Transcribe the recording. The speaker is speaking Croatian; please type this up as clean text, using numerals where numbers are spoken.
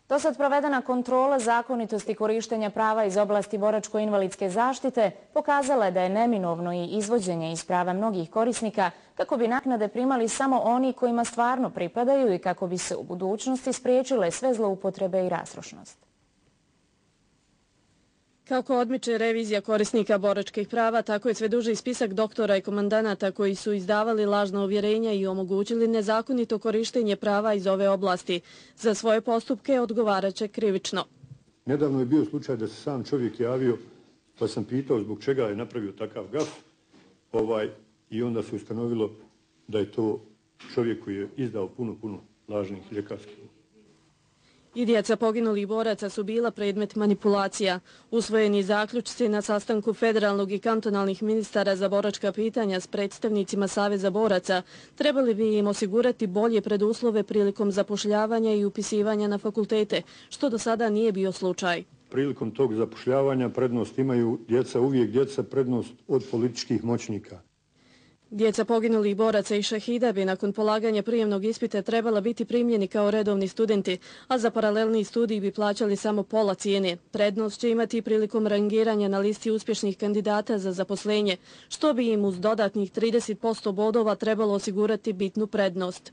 Dosad provedena kontrola zakonitosti korištenja prava iz oblasti boračko-invalidske zaštite pokazala je da je neminovno i izvođenje iz prava mnogih korisnika kako bi naknade primali samo oni kojima stvarno pripadaju i kako bi se u budućnosti spriječile sve zloupotrebe i rastrošnost. Kako odmiče revizija korisnika boračkih prava, tako je sve duži spisak doktora i komandanata koji su izdavali lažna uvjerenja i omogućili nezakonito korištenje prava iz ove oblasti. Za svoje postupke odgovaraće krivično. Nedavno je bio slučaj da se sam čovjek javio, pa sam pitao zbog čega je napravio takav gaf i onda se ustanovilo da je to čovjek koji je izdao puno lažnih ljekarskih. I djeca poginulih boraca su bila predmet manipulacija. Usvojeni zaključci na sastanku federalnog i kantonalnih ministara za boračka pitanja s predstavnicima Saveza boraca trebali bi im osigurati bolje preduslove prilikom zapošljavanja i upisivanja na fakultete, što do sada nije bio slučaj. Prilikom tog zapošljavanja prednost imaju uvijek djeca prednost od političkih moćnika. Djeca poginulih boraca i šehida bi nakon polaganja prijemnog ispita trebala biti primljeni kao redovni studenti, a za paralelni studij bi plaćali samo pola cijene. Prednost će imati prilikom rangiranja na listi uspješnih kandidata za zaposlenje, što bi im uz dodatnih 30% bodova trebalo osigurati bitnu prednost.